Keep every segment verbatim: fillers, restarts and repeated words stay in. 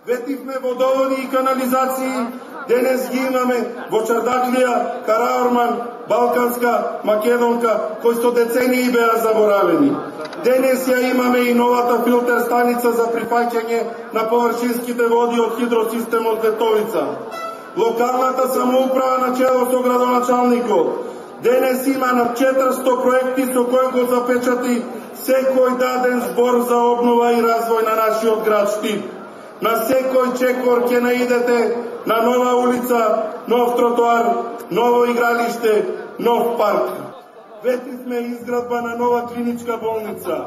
Ветивме водоводи и канализации, денес ги имаме во Чардаклија, Караорман, Балканска, Македонка, кои сто децении беа заборавени. Денес ја имаме и новата филтер станица за прифаќање на површинските води од хидросистемот Ветовица. Локалната самоуправа на чело со градоначалникот денес има на четиристо проекти со кои го запечати секој даден збор за обнова и развој на нашиот град Штип. На секој чекор ќе наидете на нова улица, нов тротоар, ново игралиште, нов парк. Ветивме изградба на нова клиничка болница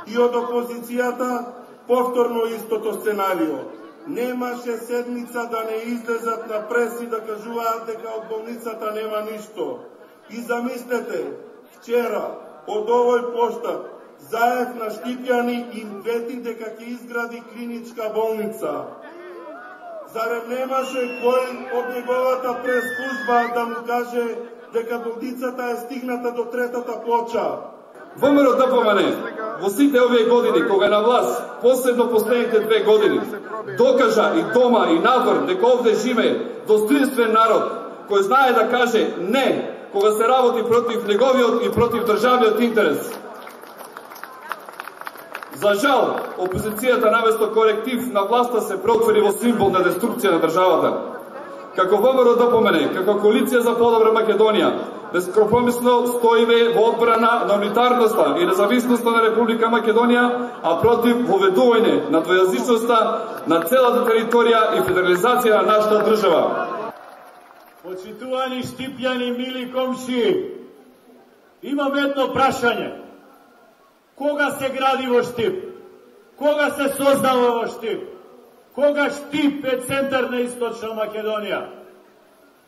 и од опозицијата повторно истото сценарио. Немаше седмица да не излезат на преси да кажуваат дека од болницата нема ништо. И замислете, вчера од овој поштап Заев на Штипјани им вети дека ќе изгради клиничка болница. Зарем немаше кој од неговата прес-служба да му каже дека болницата е стигната до третата плоча? ВМРО Д П М Н во сите овие години, кога на власт, последно последните две години, докажа и дома и надвор дека овде живее достоинствен народ, кој знае да каже не, кога се работи против неговиот и против државниот интерес. За жал, опозицијата наместо коректив на власта се преотвори во символ на деструкција на државата. Како ВМРО Д П М Н, како коалиција за подобра Македонија, бескомпромисно стоиме во одбрана на унитарноста и независноста на Република Македонија, а против воведување на двојазичноста на целата територија и федерализација на нашата држава. Почитувани Штипјани, мили комши, имам едно прашање. Кога се гради во Штип? Кога се создава во Штип? Кога Штип е центар на Источна Македонија?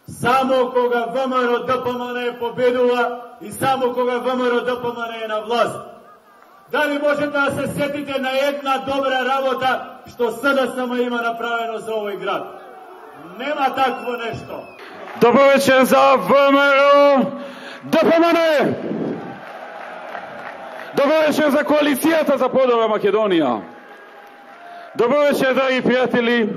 Само кога ВМРО Д П М Н победува и само кога ВМРО Д П М Н е на власт. Дали можете да се сетите на една добра работа што С Д С М има направено за овој град? Нема такво нешто. Добро вечер за ВМРО Д П М Н! Добро вечер за коалицијата за подобра Македонија! Добро вечер, драги пријатели!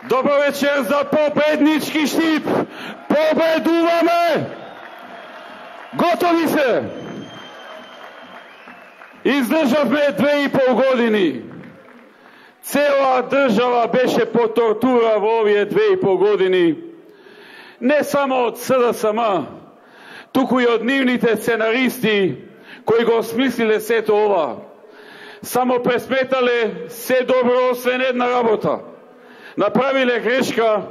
Добро вечер за победнички Штип! Победуваме! Готови се! Издржавме две и пол години. Цела држава беше по тортура во овие две и пол години. Не само од С Д С М, туку и од нивните сценаристи кои го смислиле сето ова. Само пресметале се добро освен една работа. Направиле грешка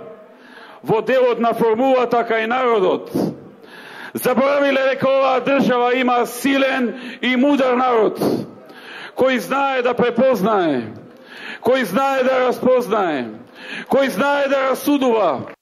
во делот на формулата кај народот. Заборавиле дека оваа држава има силен и мудар народ, кој знае да препознае, кој знае да распознае, кој знае да расудува.